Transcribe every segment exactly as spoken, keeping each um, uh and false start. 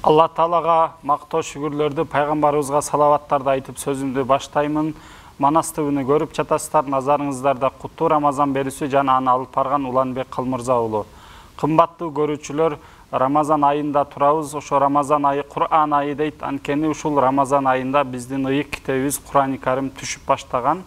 Алла Таалага мактоо шүгүрлөрдү, пайгамбарыбызга салаваттарды айтып сөзүмдү баштаймын. Манас ТВ-ны көрүп жатасыздар, назарыңыздарда куттуу Рамазан берүүсү жана аны алып барган Уланбек Калмырза уулу. Кымбаттуу көрүүчүлөр, Рамазан айында турабыз. Ошо Рамазан айы Кур'ан айы дейт. Анткени ушул Рамазан айында биздин ыйык китебибиз Кур'ани Карим түшүп баштаган.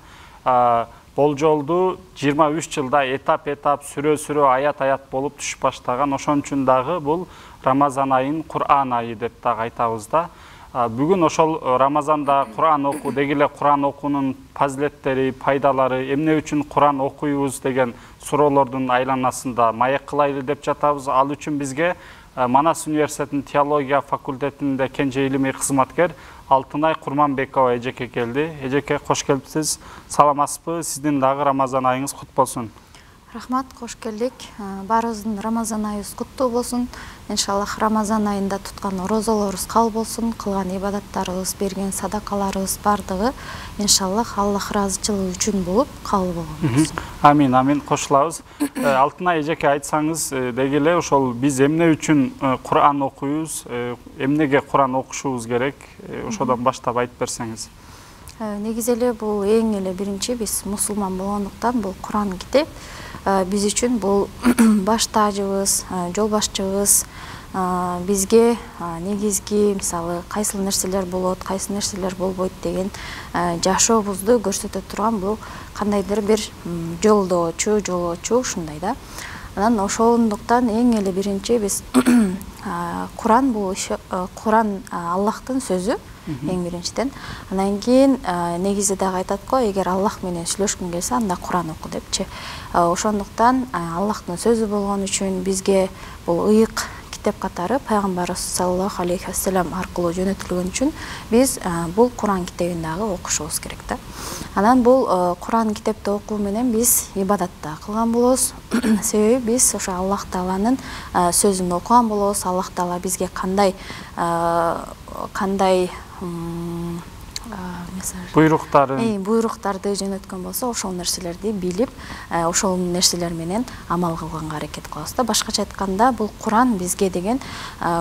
Болжолду жыйырма үч жылда этап-этап, сүрө-сүрө, аят-аят болуп түшүп баштаган. Ошон үчүн дагы бул Рамазан айын Кур'ан айы деп дагы айтабыз да. Бүгүн ошол Рамазанда Кур'ан окуу, деги эле Кур'ан окуунун фазилеттери, пайдалары, эмне үчүн Кур'ан окуйбуз деген суроолордун айланасында маек кылайлы деп жатабыз. Ал үчүн бизге Манас университетинин теология факультетинде кенже илимий кызматкер Алтынай Курманбекова эжеке келди. Эжеке, кош келипсиз. Саламатсызбы? Сиздин дагы Рамазан айыңыз кут болсун. Рахмат, кош келдик. Баарыбыздын Рамазан айыбыз куттуу болсун. Иншаллах Рамазан айында туткан орозолорубуз кабыл болсун, кылган ибадаттарыбыз, берген садакаларыбыз бардыгы иншаллах Аллах ыраазычылыгы үчүн болуп кабыл болгон болсун. Амин, амин, кошулабыз. Алтынай эжеке, айтсаңыз, деги эле ошол биз эмне үчүн Кур'ан окуйбуз, эмнеге Кур'ан окушубуз керек, ошодон баштап айтып берсеңиз. Негизи эле бул эң эле биринчи биз мусулман болгондуктан бул Кур'ан китеп биз үчүн бул баш таажыбыз, жол башчыбыз, бизге негизги мисалы кайсыл нерселер болот, кайсы нерселер болбойт деген жашообузду көрсөтө турган бул кандайдыр бир жолдоочу, жолоочу ушундай да. Анан ошондуктан эң эле биринчи биз Кур'ан бул Кур'ан Аллахтын сөзү эң биринчиден. Анан кийин негизи дагы айтат го, эгер Аллах менен сүйлөшкүң келсе, анда Кур'ан оку депчи. Ошондуктан Аллахтын сөзү болгон үчүн бизге бул ыйык китеп катары пайгамбарыбыз саллаллаху алейхи вассалам аркылуу жөнөтүлгөн үчүн биз бул Кур'ан китебин дагы окушубуз керек да. Анан бул Кур'ан китепти окуу менен биз ибадат да кылган болобуз. Себеби биз ошо Аллах Тааланын сөзүн окуган болобуз. Аллах Таала бизге кандай кандай буйруктарын буйруктарды жөнөткөн болсо, ошол нерселерди билип, ошол нерселер менен амал кылганга аракет кылабыз да. Башкача айтканда, бул Кур'ан бизге деген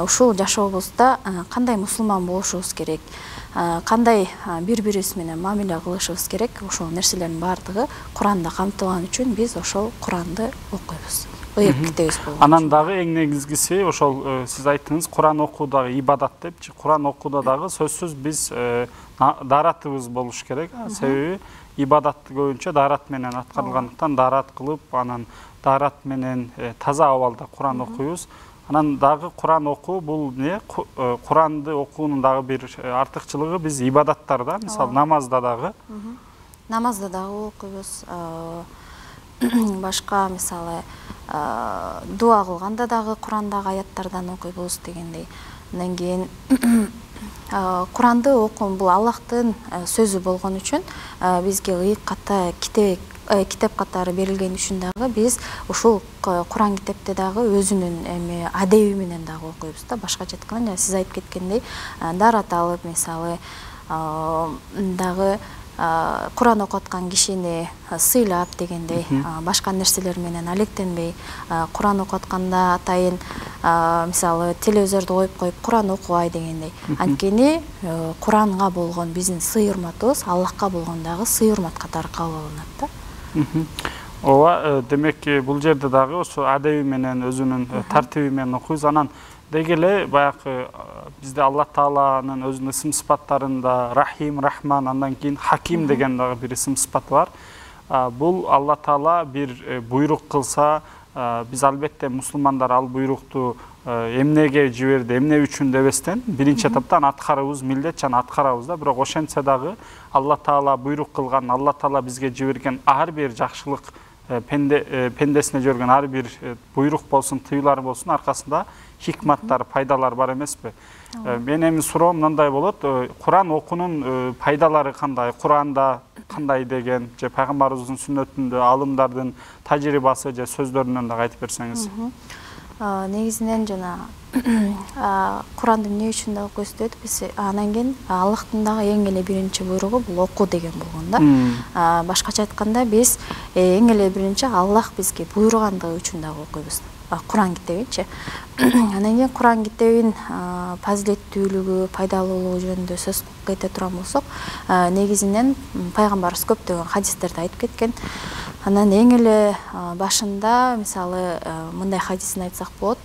ушул жашообузда кандай мусулман болушубуз керек, кандай бири-бирибиз менен мамиле кылышыбыз керек, ошол нерселердин баардыгы Кур'анда камтылган үчүн биз ошол Кур'анды окуйбуз. Анан дагы эң негизгиси ошол сиз айттыңыз, Кур'ан окуу дагы ибадат депчи. Кур'ан окууда дагы сөзсүз биз дааратыбыз болуш керек. Себеби ибадат көбүнчө даарат менен аткарылгандыктан даарат кылып, анан даарат менен таза абалда Кур'ан окуйбуз. Анан дагы Кур'ан окуу бул эмне? Кур'анды окуунун дагы бир артыкчылыгы биз ибадаттар да, мисалы намазда дагы. Намазда дагы окуйбуз. Башка мисалы дуа кылганда дагы Кур'андагы аяттардан окуйбуз дегендей. Андан кийин Кур'анды окуун бул Аллахтын сөзү болгон үчүн бизге ыйык ката китеп китеп катары берилген үчүн дагы биз ушул Кур'ан китепти дагы өзүнүн эми адеби менен дагы окуйбуз да. Башкача айтканда, сиз айтып кеткендей, даарат алып, мисалы дагы Кур'ан окуткан кишини сыйлап дегендей, башка нерселер менен алектенбей, Кур'ан окутканда атайын мисалы телевизорду коюп коюп Кур'ан окубай дегендей. Анткени Кур'анга болгон биздин сый урматыбыз Аллахка болгон дагы сый урмат катары кабыл алынат да. Ооба, демек бул жерде дагы ошо адеби менен өзүнүн тартиби менен окуйбуз. Анан деги эле баягы бизде Алла Тааланын өзүнүн ысым сыпаттарында Рахим, Рахман, андан кийин Хаким деген дагы бир ысым сыпат бар. Бул Алла Таала бир буйрук кылса, биз албетте мусулмандар ал буйрукту эмнеге жиберди, эмне үчүн дебестен биринчи этаптан аткарыбыз милдет жана аткарабыз да. Бирок ошентсе дагы Алла Таала буйрук кылган, Алла Таала бизге жиберген ар бир жакшылык, пендесине жиберген ар бир буйрук болсун, тыюлар болсун, аркасында хикматтар, пайдалар бар эмеспи? Менин суроом мындай болот, Кур'ан окуунун пайдалары кандай? Кур'анда кандай деген, же пайгамбарыбыздын сүннөтүндө алымдардын тажрыйбасы же сөздөрүнөн да айтып берсеңиз. Негизинен жана Кур'анды эмне үчүн да окуйбуз деп биз анан кийин Аллахтын дагы эң эле биринчи буйругу бул окуу деген болгон да. Башкача айтканда, биз эң эле биринчи Аллах бизге буйругандыгы үчүн дагы окуйбуз. Куран китебинчи. Анан кийин Куран китебин фазилеттүүлүгү, пайдалуулугу жөнүндө сөз кете турган болсок, негизинен пайгамбарыбыз көптөгөн хадистерди айтып кеткен. Анан эң эле башында мисалы мындай хадисин айтсак болот.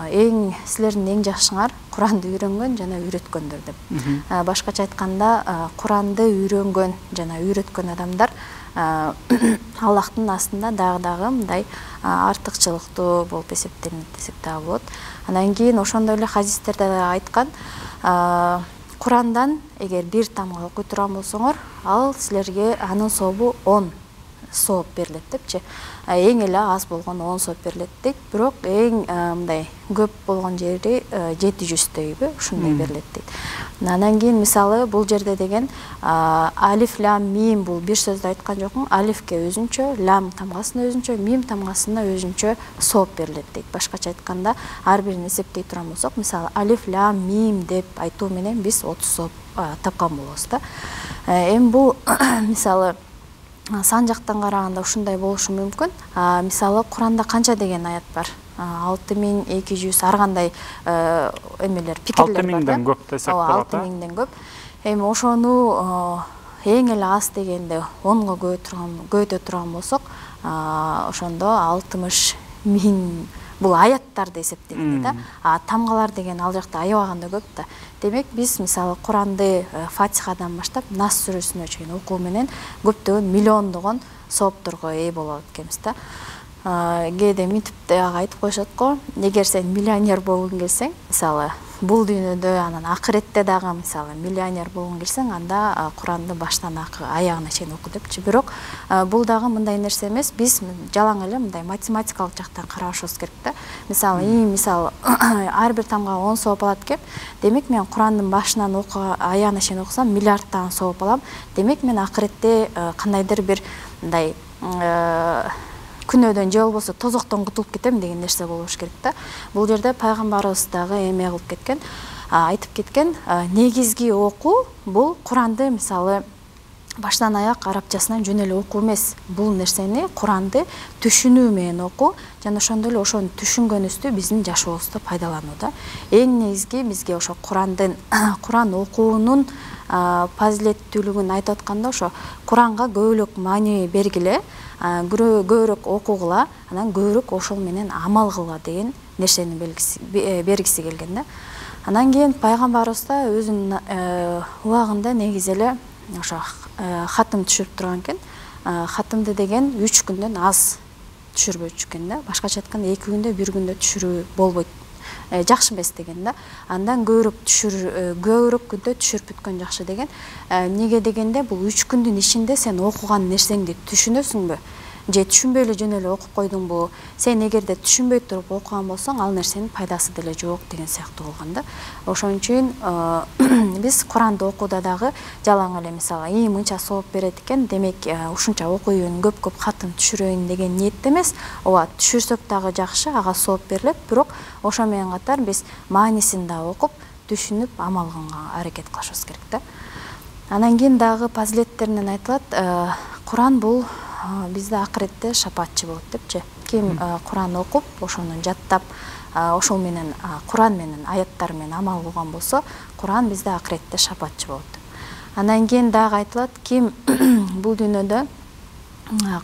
Эң силердин эң жакшыңар Куранды үйрөнгөн жана үйрөткөндөр деп. Башкача айтканда, Куранды үйрөнгөн жана үйрөткөн адамдар Аллахтын астында дагы-дагы мындай артыкчылыктуу болуп эсептелинет десек дагы болот. Анан кийин ошондой эле хадистерде айткан, Курандан эгер бир тамга окуй турган болсоңор, ал силерге анын сообу он сооп берилет депчи. Эң эле аз болгон он сооп берилет дейт, бирок эң мындай көп болгон жери жети жүздөйбү ушундай берилет дейт. Анан кийин мисалы бул жерде деген алиф лам мим бул бир сөздү айткан жокмун. Алифке өзүнчө, лам тамгасына өзүнчө, мим тамгасына өзүнчө сооп берилет дейт. Башкача айтканда, ар бирин эсептей турган болсок, мисалы алиф лам мим деп айтуу менен биз отуз сооп тапкан болобуз да. Эми бул мисалы сан жактан караганда ушундай болушу мүмкүн. Мисалы Куранда канча деген аят бар? алты миң эки жүз ар кандай эмелер, пикирлер бар. алты миңден көп десек болот. алты миңден көп. Эми ошону эң эле аз дегенде онго көбөйтө турган болсок, ошондо алтымыш миң бул аяттарды эсептегенде да. А тамгалар деген ал жакта аябаганда көп да. Демек биз мисалы Куранды Фатихадан баштап Нас сүрөсүнө чейин окуу менен көптөгөн миллиондогон соопторго ээ болот экенбиз да. Кээде мынтип дагы айтып коюшат го, эгер сен миллионер болгуң келсең, мисалы бул дүйнөдө анан акыретте дагы мисалы миллионер болгуң келсең, анда Куранды баштан аягына чейин оку депчи. Бирок бул дагы мындай нерсе эмес, биз жалаң эле мындай математикалык жактан карашыбыз керек да. Мисалы, и мисалы ар бир тамга он сооп алат экен. Демек мен Курандын башынан окуга аягына чейин окусам миллиардтаган сооп алам. Демек мен акыретте кандайдыр бир мындай күнөөдөн же болбосо тозоктон кутулуп кетем деген нерсе болуш керек да. Бул жерде пайгамбарыбыз дагы эме кылып кеткен, айтып кеткен, негизги окуу бул Куранды мисалы баштан аяк арабчасынан жөн эле окуу эмес. Бул нерсени Куранды түшүнүү менен окуу жана ошондой эле ошону түшүнгөнүбүздү биздин жашообузда пайдалануу да. Эң негизги бизге ошо Курандын Куран окуунун фазилеттүүлүгүн айтып атканда, ошо Куранга көбүрөөк маани бергиле, көбүрөөк окугула, анан көбүрөөк ошол менен амал кылгыла деген нерсени бергиси келген да. Анан кийин пайгамбарыбыз да өзүнүн убагында негизи эле ошо хатым түшүрүп турган экен. Хатымды деген үч күндөн аз түшүрбөчү экен да. Башкача айтканда эки күндө, бир күндө түшүрүү болбойт. Жакшы эмес деген да. Андан көбүрөөк түшүр, көбүрөөк күндө түшүрүп бүткөн жакшы деген. Неге дегенде бул үч күндүн ичинде сен окуган нерсеңди түшүнөсүңбү? Же түшүнбөй эле жөн эле окуп койдуңбу? Сен эгерде түшүнбөй туруп окуган болсоң, ал нерсенин пайдасы деле жок деген сыяктуу болгон да. Ошон үчүн биз Куранды окууда дагы жалаң эле мисалы, и мынча сооп берет экен, демек ушунча окуйын, көп-көп хатын түшүрөйүн деген ниетте эмес. Ооба, түшүрсөк дагы жакшы, ага сооп берилет, бирок ошо менен катар биз маанисин да окуп, түшүнүп, амал кылганга аракет кылышыбыз керек да. Анан кийин дагы фазилеттеринен айтылат, Куран бул бизде акыретте шапаатчы болот депчи. Ким Куран окуп, ошону жаттап, ошол менен Куран менен аяттар менен амал кылган болсо, Куран бизде акыретте шапаатчы болот. Анан кийин дагы айтылат, ким бул дүйнөдө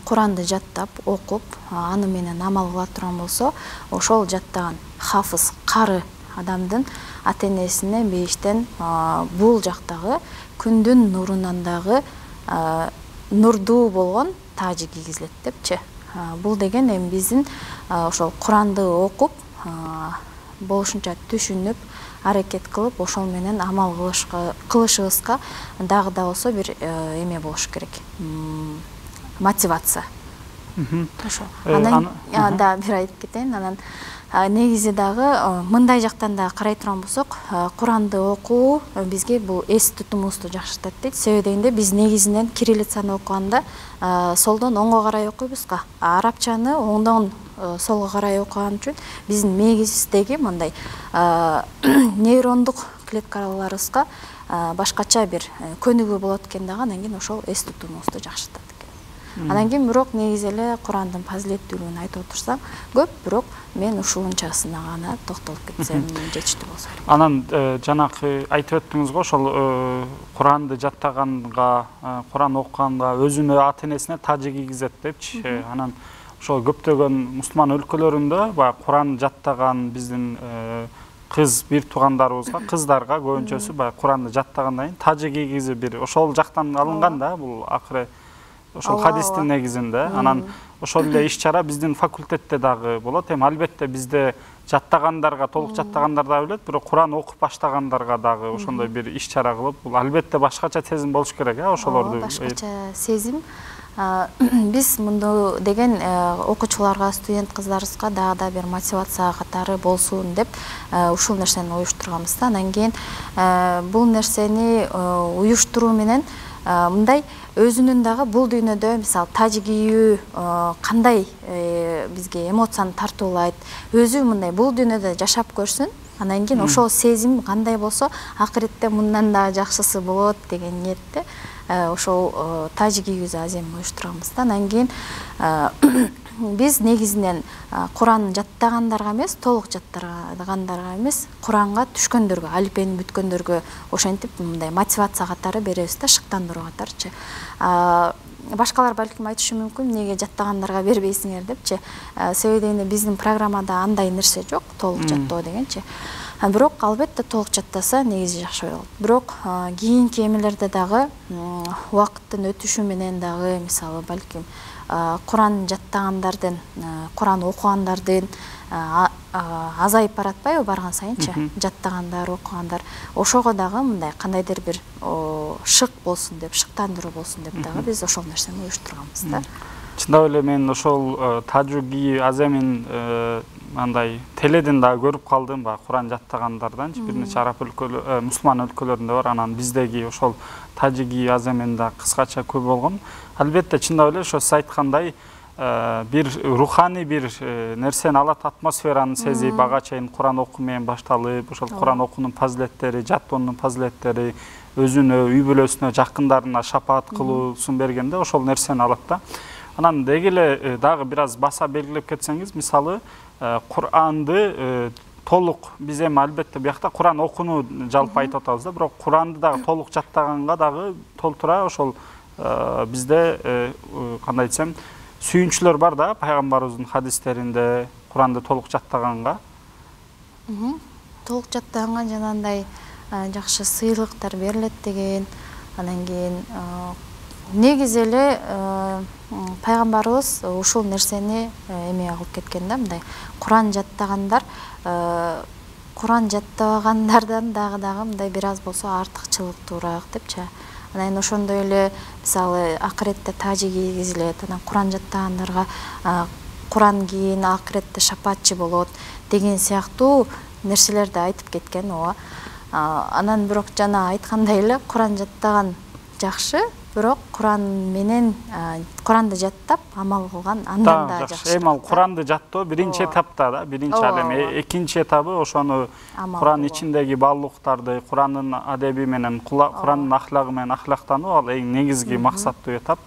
Куранды жаттап, окуп, аны менен амал кыла турган болсо, ошол жаттаган хафыз, кары адамдын ата-энесине бейиштен бул жактагы күндүн нурунан дагы нурдуу болгон тажы кийгизилет депчи. Бул деген эми биздин ошол Куранды окуп, болушунча түшүнүп, аракет кылып, ошол менен амал кылышыбызга дагы да болсо бир эме болуш керек. Мотивация. Ошо. Анан да бир айтып кетейин. Анан негизи дагы мындай жактан да карай турган болсок, Куранды окуу бизге бул эс тутумубузду жакшыртат дейт. Себеби дегенде биз негизинен кириллицаны окуганда солдон оңго карай окуйбуз го. Арабчаны оңдон солго карай окуган үчүн биздин мээбиздеги мындай нейрондук клеткаларыбызга башкача бир көнүгүү болот экен дагы, анан кийин ошол эс тутумубузду жакшыртат экен. Анан кийин бирок негизи эле Курандын фазилеттүүлүгүн айтып отурсам көп, бирок мен ушунчасына гана токтолуп кетсем жетиштүү болсо. Анан жанакы айтып өттүңүз го, ошол Куранды жаттаганга, Куран окуганга өзүнө ата энесине тажы кийгизет депчи. Анан ошол көптөгөн мусулман өлкөлөрүндө баягы Куран жаттаган биздин кыз бир туугандарыбызга, кыздарга көбүнчөсү баягы Куранды жаттагандан кийин тажы кийгизип бир ошол жактан алынган да, бул акыры ошол хадистин негизинде. Анан ошол эле иш-чара биздин факультетте дагы болот. Эми албетте бизде жаттагандарга, толук жаттагандар да билет, бирок Куран окуп баштагандарга дагы ошондой бир иш-чара кылып, бул албетте башкача сезим болуш керек, э, ошолорду. Башкача сезим. Биз мынду деген окуучуларга, студент кыздарыбызга дагы да бир мотивация катары болсун деп ушул нерсени уюштурганбыз да. Анан кийин бул нерсени уюштуруу менен мындай өзүнүн дагы бул дүйнөдө мисалы тажы кийүү кандай бизге эмоцияны тартуулайт, өзү мындай бул дүйнөдө жашап көрсүн. Анан кийин ошол сезим кандай болсо, акыретте мындан да жакшысы болот деген ниетте ошол тажы кийүүзү азем уюштурганбыз да. Анан кийин биз негизинен Куранды жаттагандарга эмес, толук жаттагандарга эмес, Куранга түшкөндөргө, алифбени бүткөндөргө ошентип мындай мотивация катары беребиз да, шыктандыруу катарычы. Башкалар балким айтышы мүмкүн, эмнеге жаттагандарга бербейсиңер депчи. Себеби дегенде биздин программада андай нерсе жок, толук жаттоо дегенчи. Бирок албетте толук жаттаса негизи жакшы болот. Бирок кийинки эмелерде дагы убакыттын өтүшү менен дагы мисалы балким Куран жаттагандардын, Куран окугандардын азайып баратпайбы барган сайынчы, жаттагандар, окугандар. Ошого дагы мындай кандайдыр бир шык болсун деп, шыктандыруу болсун деп дагы биз ошол нерсени уюштурганбыз да. Чындап эле мен ошол тажы кийүү аземин андай теледен дагы көрүп калдым, баягы Куран жаттагандардан, бир нече араб өлкөлөр, мусулман өлкөлөрүндө бар. Анан биздеги ошол тажы кийүү аземин да кыскача көп болгон. Албетте чындап эле ошо сиз айткандай бир руханий бир нерсени алат, атмосфераны сезип, ага чейин Куран окуу менен башталып, ошол Куран окуунун фазилеттери, жаттоонун фазилеттери өзүнө, үй бүлөсүнө, жакындарына шапаат кылуусун бергенде ошол нерсени алат да. Анан деги эле дагы бир аз баса белгилеп кетсеңиз, мисалы Куранды толук биз эми албетте биякта Куран окууну жалпы айтып атабыз да, бирок Куранды дагы толук жаттаганга дагы толтура ошол бизде кандай десем сүйүнчүлөр бар да, пайгамбарыбыздын хадистеринде Куранды толук жаттаганга. Толук жаттаганга жанагындай жакшы сыйлыктар берилет деген. Анан кийин негизи эле пайгамбарыбыз ушул нерсени эме кылып кеткен да, мындай Куран жаттагандар Куран жаттагандардан дагы дагы мындай бир аз болсо артыкчылыктуураак депчи. Анан ошондой эле мисалы акыретте тажы кийгизилет, анан Куран жаттагандарга Куран кийин акыретте шапаатчы болот деген сыяктуу нерселерди айтып кеткен. Ооба. Анан бирок жана айткандай эле Куран жаттаган жакшы, бирок Куран менен Куранды жаттап амал кылган андан да жакшы. Эми ал Куранды жаттоо биринчи этапта да, биринчи ал эми экинчи этабы ошону Куран ичиндеги баалуулуктарды, Курандын адеби менен, Курандын ахлагы менен ахлактануу ал эң негизги максаттуу этап.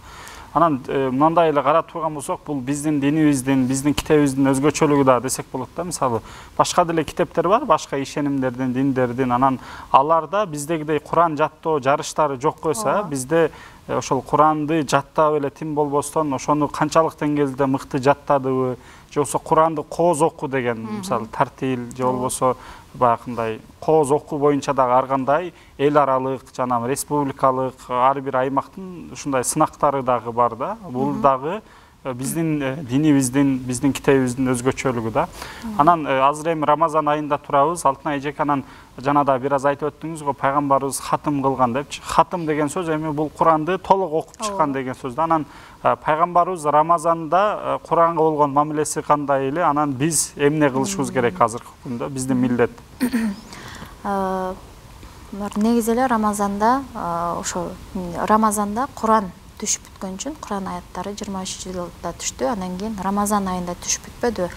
Анан мындай эле карап турган болсок, бул биздин динибиздин, биздин китебибиздин өзгөчөлүгү да десек болот да. Мисалы, башка деле китептер бар, башка ишенимдердин, диндердин, анан аларда биздегидей Куран жаттоо жарыштары жок койсо, бизде ошол Куранды жаттап эле тим болбостон, ошону канчалык деңгээлде мыкты жаттадыбы, же болбосо Куранды кооз окуу деген, мисалы, тартил, же болбосо баягындай кооз окуу боюнча дагы ар кандай эл аралык, жана республикалык, ар бир аймактын ушундай сынактары дагы бар да. Бул дагы биздин динибиздин, биздин китебибиздин өзгөчөлүгү да. Анан азыр эми Рамазан айында турабыз. Алтынай эжеке, анан жана да бир аз айтып өттүңүз го, пайгамбарыбыз хатым кылган депчи. Хатым деген сөз эми бул Куранды толук окуп чыккан деген сөз да. Анан пайгамбарыбыз Рамазанда Куранга болгон мамилеси кандай эле, анан биз эмне кылышыбыз керек азыркы күндө, биздин милдет? Негизи эле Рамазанда ошо Рамазанда Куран түшүп бүткөн үчүн Куран аяттары жыйырма үч жылда түштү, анан кийин Рамазан айында түшүп бүтпөдү.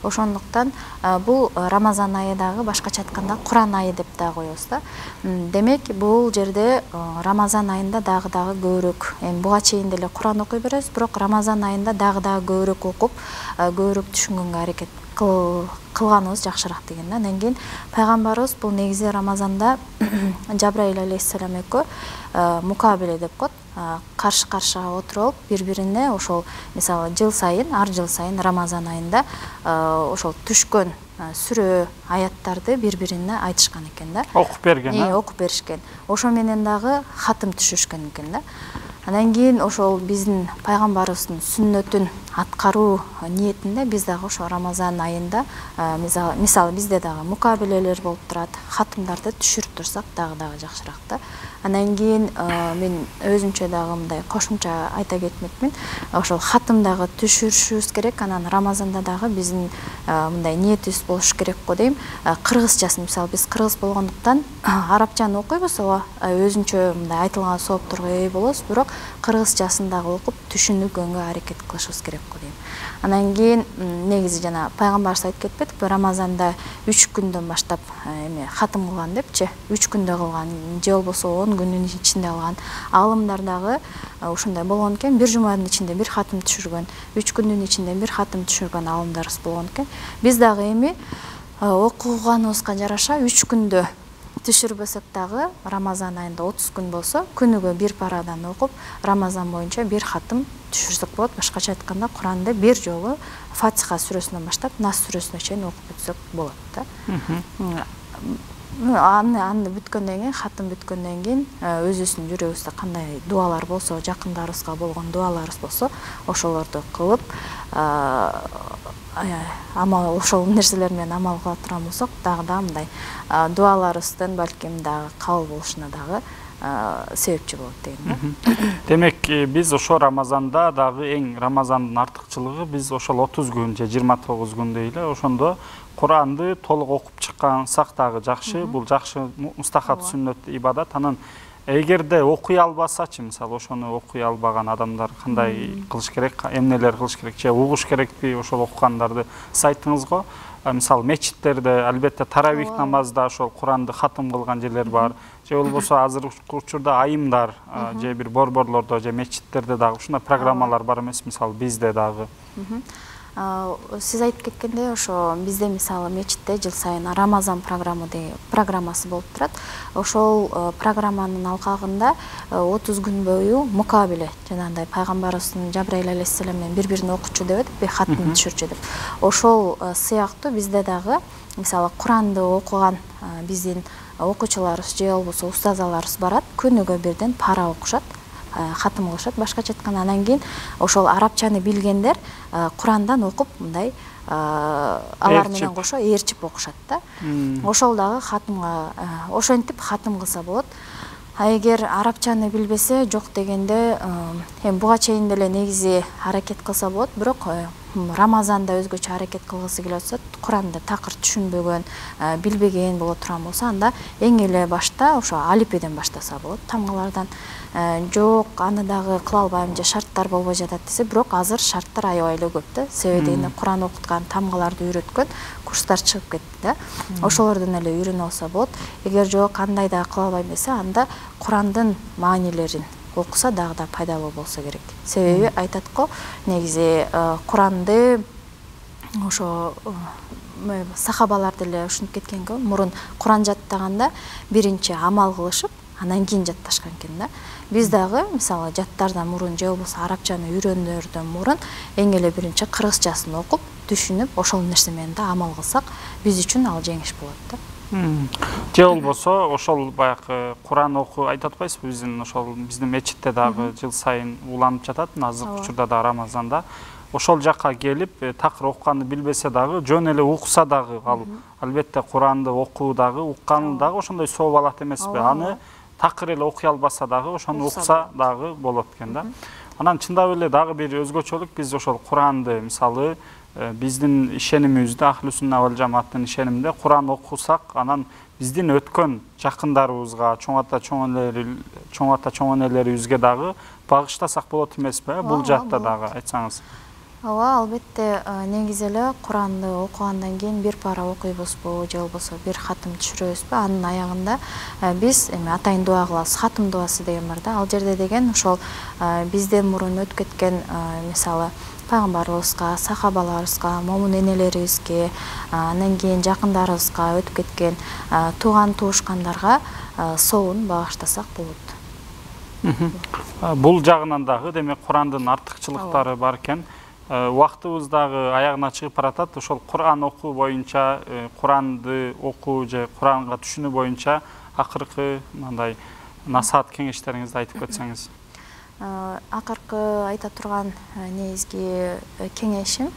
Ошондуктан бул Рамазан айы дагы башкача айтканда Куран айы деп да коебуз да. Демек, бул жерде Рамазан айында дагы дагы көбүрөөк, эми буга чейин деле Куран окуй беребиз, бирок Рамазан айында дагы дагы көбүрөөк окуп, көбүрөөк түшүнгөнгө аракет кылганыбыз жакшыраак деген да. Анан кийин пайгамбарыбыз бул негизи Рамазанда Жабраил алейхиссалам экөө мукабеле деп коет, каршы-каршыга отуруп алып, бири-бирине ошол мисалы жыл сайын, ар жыл сайын Рамазан айында ошол түшкөн сүрө, аяттарды бири-бирине айтышкан экен да. Окуп берген, э? Окуп беришкен. Ошо менен дагы хатым түшүрүшкөн экен да. Анан кийин ошол биздин пайгамбарыбыздын сүннөтүн аткаруу ниетинде биз дагы ошо Рамазан айында мисалы бизде дагы мукабелелер болуп турат, хатымдарды түшүрүп турсак дагы дагы жакшыраак да. Анан кийин мен өзүмчө дагы мындай кошумча айта кетмекмин. Ошол хатым дагы түшүрүшүбүз керек. Анан Рамазанда дагы биздин мындай ниетибиз болуш керек го дейм. Кыргызчасын мисалы биз кыргыз болгондуктан арабчаны окуйбуз, ооба, өзүнчө мындай айтылган соопторго ээ болобуз, бирок кыргызчасын дагы окуп түшүнүгөнгө аракет кылышыбыз керек го дейм. Анан кийин негизи жана пайгамбарыбыз айтып кетпедикпи, Рамазанда үч күндөн баштап эме хатым кылган депчи, үч күндө кылган же болбосо он күндүн ичинде кылган. Аалымдар дагы ушундай болгон экен, бир жуманын ичинде бир хатым түшүргөн, үч күндүн ичинде бир хатым түшүргөн аалымдарыбыз болгон экен. Биз дагы эми окуганыбызга жараша үч күндө түшүрбөсөк дагы Рамазан айында отуз күн болсо, күнүгө бир парадан окуп, Рамазан боюнча бир хатым түшүрсөк болот. Башкача айтканда, Куранды бир жолу Фатиха сүрөсүнөн баштап Нас сүрөсүнө чейин окуп бүтсөк болот да. Аны аны бүткөндөн кийин, хатым бүткөндөн кийин өзүбүздүн жүрөгүбүздө кандай дуалар болсо, жакындарыбызга болгон дуаларыбыз болсо, ошолорду кылып, амал ошол нерселер менен амал кыла турган болсок, дагы да мындай дуаларыбыздын балким дагы кабыл болушуна дагы себепчи болот дейм да. Демек, биз ошо Рамазанда дагы эң Рамазандын артыкчылыгы биз ошол отуз күн же жыйырма тогуз күн дейле, ошондо Куранды толук окуп чыккансак дагы жакшы. Бул жакшы мустахаб сүннөт ибадат. Анан эгерде окуй албасачы, мисалы ошону окуй албаган адамдар кандай кылыш керек, эмнелер кылыш керек, же угуш керекпи ошол окугандарды? Сиз айттыңыз го, мисалы мечиттерде албетте таравих намазда ошол Куранды хатым кылган жерлер бар, же болбосо азыркы учурда айымдар же бир борборлордо же мечиттерде дагы ушундай программалар бар эмес, мисалы бизде дагы. Сиз айтып кеткендей, ошо бизде мисалы мечитте жыл сайын Рамазан программасы болуп турат. Ошол программанын алкагында отуз күн бою мукабеле, жанагындай пайгамбарыбыздын Жабраил алейхиссалам менен бири-бирине окучу деп атып, хатым түшүрчү деп. Ошол сыяктуу бизде дагы мисалы Куранды окуган биздин окуучуларыбыз же болбосо устазаларыбыз барат, күнүгө бирден пара окушат, хатым кылышат. Башкача айтканда, анан кийин ошол арабчаны билгендер Курандан окуп, мындай алар менен кошо ээрчип окушат да. Ошол дагы хатымга ошентип хатым кылса болот. А эгер арабчаны билбесе, жок дегенде, эми буга чейин деле негизи аракет кылса болот, бирок Рамазанда өзгөчө аракет кылгысы келип атса, Куранды такыр түшүнбөгөн, билбеген боло турган болсо, анда эң эле башта ошо алипеден баштаса болот, тамгалардан. Жок, аны дагы кыла албайм же шарттар болбой жатат десе, бирок азыр шарттар аябай эле көп да. Себеби дегенде Куран окуткан, тамгаларды үйрөткөн курстар чыгып кетти да. Ошолордон эле үйрөнүп алса болот. Эгер жок, кандай да кыла албайм десе, анда Курандын маанилерин окуса дагы да пайдалуу болсо керек. Себеби айтат го, негизи Куранды ошо сахабалар деле ушинтип кеткен го, мурун Куран жаттаганда биринчи амал кылышып, анан кийин жатташкан экен да. Биз дагы мисалы жаттардан мурун же болбосо арабчаны үйрөнөрдөн мурун эң эле биринчи кыргызчасын окуп, түшүнүп, ошол нерсе менен да амал кылсак, биз үчүн ал жеңиш болот да. Же болбосо ошол баягы Куран окуу айтып атпайсызбы, биздин ошол биздин мечитте дагы жыл сайын уланып жатат, азыркы учурда да Рамазанда. Ошол жакка келип, такыр окуганды билбесе дагы, жөн эле укса дагы, ал албетте Куранды окуу дагы, укканы дагы ошондой сооп алат эмеспи? Аны такыр эле окуй албаса дагы, ошону укса дагы болот экен да. Анан чындап эле дагы бир өзгөчөлүк, биз ошол Куранды мисалы биздин ишенимибизде, Ахлы Сунна вал Жамааттын ишениминде Куран окусак, анан биздин өткөн жакындарыбызга, чоң ата чоң энелер, чоң ата чоң энелерибизге дагы багыштасак болот эмеспи? Бул жакта дагы айтсаңыз. Ооба, албетте, негизи эле Куранды окугандан кийин бир пара окуйбузбу, же болбосо бир хатым түшүрөбүзбү? Анын аягында биз эми атайын дуа кылабыз, хатым дуасы деген бар да. Ал жерде деген ошол бизден мурун өтүп кеткен, мисалы, пайгамбарыбызга, сахабаларыбызга, момун энелерибизге, андан кийин жакындарыбызга, өтүп кеткен тууган туушкандарга соовун багыштасак болот. Бул жагынан дагы демек Курандын артыкчылыктары бар экен. Убактыбыз дагы аягына чыгып баратат. Ошол Куран окуу боюнча, Куранды окуу же Куранга түшүнүү боюнча акыркы мындай насаат кеңештериңизди айтып кетсеңиз. Акыркы айта турган негизги кеңешим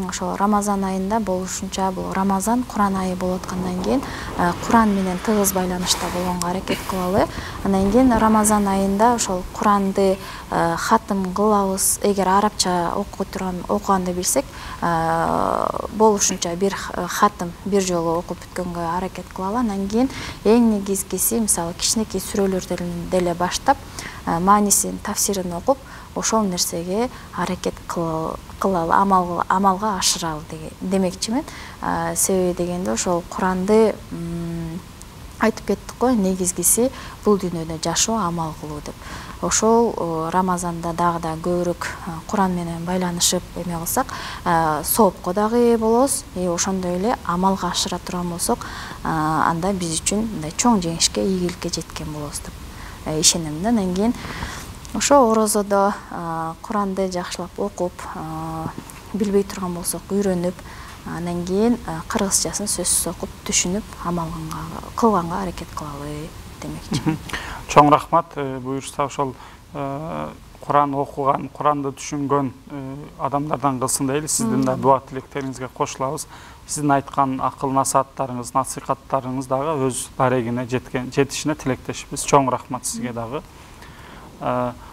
ошол Рамазан айында болушунча, бул Рамазан Куран айы болуп аткандан кийин Куран менен тыгыз байланышта болгонго аракет кылалы. Андан кийин Рамазан айында ошол Куранды хатым кылабыз. Эгер арабча окуй турган окуганды билсек, болушунча бир хатым бир жолу окуп бүткөнгө аракет кылалы. Андан кийин эң негизгиси, мисалы, кичинекей сүрөлөрдөн деле баштап маанисин, тафсирин окуп, ошол нерсеге аракет кылалы, амалга ашыралы демекчимин. Себеби дегенде ошол Куранды айтып кеттик го, негизгиси бул дүйнөдө жашоо, амал кылуу деп. Ошол Рамазанда дагы да көбүрөөк Куран менен байланышып эме кылсак, соопко дагы ээ болобуз, и ошондой эле амалга ашыра турган болсок, анда биз үчүн мындай чоң жеңишке, ийгиликке жеткен болобуз деп ишенем да. Андан кийин ошо орозодо Куранды жакшылап окуп, билбей турган болсок үйрөнүп, андан кийин кыргызчасын сөзсүз окуп, түшүнүп, амал кылганга аракет кылалы демекчи. Чоң рахмат. Буюрса ошол Куран окуган, Куранды түшүнгөн адамдардан кылсын дейли. Сиздин да дуа тилектериңизге кошулабыз. Сиздин айткан акыл насааттарыңыз, насихаттарыңыз дагы өз дарегине жеткен, жетишине тилектешпиз. Чоң рахмат сизге дагы.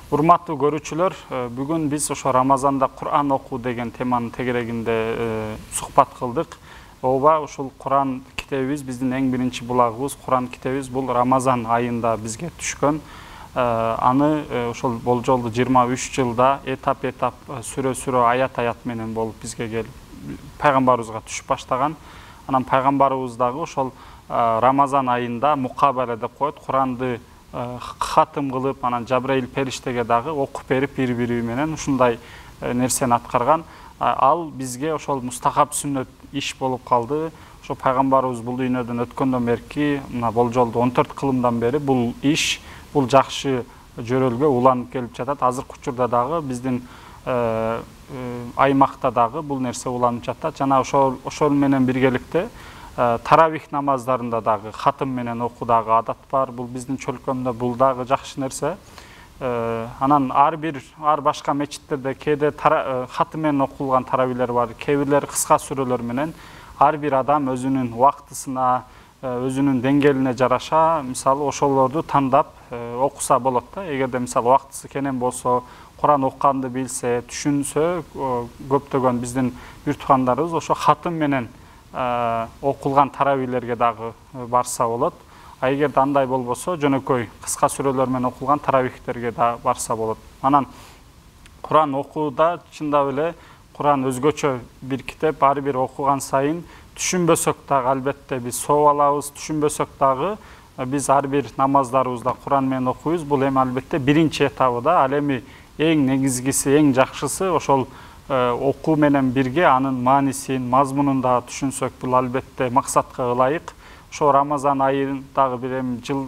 Урматтуу көрүүчүлөр, бүгүн биз ошо Рамазанда Куран окуу деген теманын тегерегинде сухбат кылдык. Ооба, ушул Куран китебибиз биздин эң биринчи булагыбыз. Куран китебибиз бул Рамазан айында бизге түшкөн. Аны ошол болжолду жыйырма үч жылда этап-этап, сүрө-сүрө, аят-аят менен болуп бизге келип пайгамбарыбызга түшүп баштаган. Анан пайгамбарыбыз дагы ошол Рамазан айында мукабара деп коет, Куранды хатым кылып, анан Жабраил периштеге дагы окуп берип, бири-бири менен ушундай нерсени аткарган. Ал бизге ошол мустахаб сүннөт иш болуп калды. Ошо пайгамбарыбыз бул дүйнөдөн өткөндөн берки, мына болжолду он төрт кылымдан бери бул иш, бул жакшы жөрөлгө уланып келип жатат. Азыркы учурда дагы биздин аймакта дагы бул нерсе уланып жатат. Жана ошол ошол менен биргеликте таравих намаздарында дагы хатым менен окуу дагы адат бар. Бул биздин чөлкөмдө бул дагы жакшы нерсе. Анан ар бир ар башка мечиттерде кээде хатым менен окулган таравилер бар, кээ бирлери кыска сүрөлөр менен. Ар бир адам өзүнүн убактысына, өзүнүн деңгээлине жараша, мисалы ошолорду тандап окуса болот да. Эгерде мисалы убактысы кенен болсо, Куран окуганды билсе, түшүнсө, көптөгөн биздин бир туугандарыбыз ошо хатым менен окулган таравилерге дагы барса болот. А эгерде андай болбосо, жөнөкөй кыска сүрөлөр менен окулган таравихтерге да барса болот. Анан Куран окууда чындап эле Куран өзгөчө бир китеп, ар бир окуган сайын түшүнбөсөк дагы албетте биз сооп алабыз, түшүнбөсөк дагы биз ар бир намаздарыбызда Куран менен окуйбуз. Бул эми албетте биринчи этабы да. Ал эми эң негизгиси, эң жакшысы ошол окуу менен бирге анын маанисин, мазмунун да түшүнсөк, бул албетте максатка ылайык. Ошо Рамазан айы дагы бир эми жыл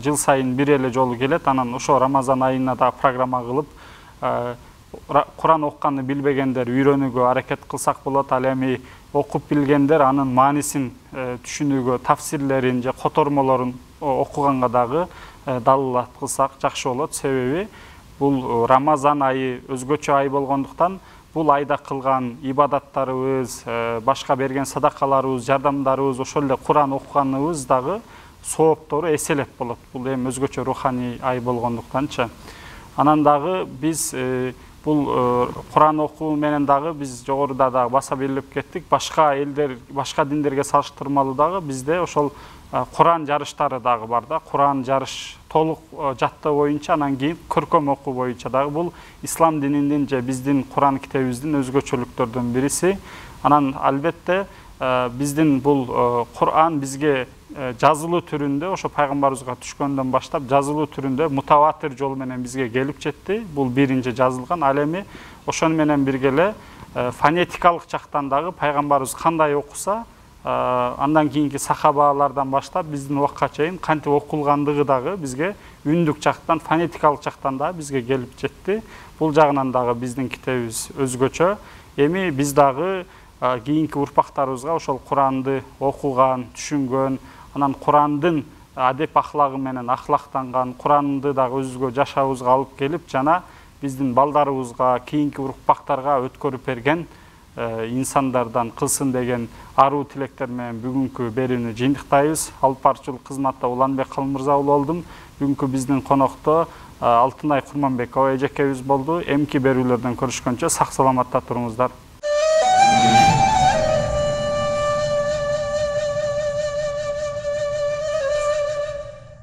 жыл сайын бир эле жолу келет. Анан ошо Рамазан айына да программа кылып, Куран окканды билбегендер үйрөнүүгө аракет кылсак болот. Ал эми окуп билгендер анын маанисин түшүнүүгө, тафсирлерин же котормолорун окуганга дагы далилат кылсак жакшы болот. Себеби бул Рамазан айы өзгөчө ай болгондуктан бул айда кылган ибадаттарыбыз, башка берген садакаларыбыз, жардамдарыбыз, ошол эле Куран окуганыбыз дагы сооптору эселеп болот. Бул эми өзгөчө руханий ай болгондуктанчы. Анан дагы биз Бул Куран окуу менен дагы биз жогоруда дагы баса белгилеп кеттик. Башка элдер, башка диндерге салыштырмалуу дагы бизде ошол Куран жарыштары дагы бар да. Куран жарыш толук жаттоо боюнча, анан кийин көркөм окуу боюнча дагы бул ислам дининин же биздин Куран китебибиздин өзгөчөлүктөрдөн бириси. Анан албетте биздин бул Куран бизге жазылуу түрүндө, ошо пайгамбарыбызга түшкөндөн баштап жазылуу түрүндө мутаватир жол менен бизге келип жетти. Бул биринчи жазылган. Ал эми ошону менен бирге эле фонетикалык жактан дагы пайгамбарыбыз кандай окуса, андан кийинки сахабалардан баштап биздин убакка чейин кантип окулгандыгы дагы бизге үндүк жактан, фонетикалык жактан дагы бизге келип жетти. Бул жагынан дагы биздин китебибиз өзгөчө. Эми биз дагы кийинки урпактарыбызга ошол Куранды окуган, түшүнгөн, анан Курандын адеп ахлагы менен ахлактанган, Куранды дагы өзүбүзгө жашообузга алып келип, жана биздин балдарыбызга, кийинки урпактарга өткөрүп берген инсандардан кылсын деген аруу тилектер менен бүгүнкү берүүнү жыйынтыктайбыз. Алып баруучулук кызматта Уланбек Калмырза уулу болдум. Бүгүнкү биздин конокто Алтынай Курманбекова эжекебиз болду. Эмки берүүлөрдөн көрүшкөнчө сак саламатта туруңуздар.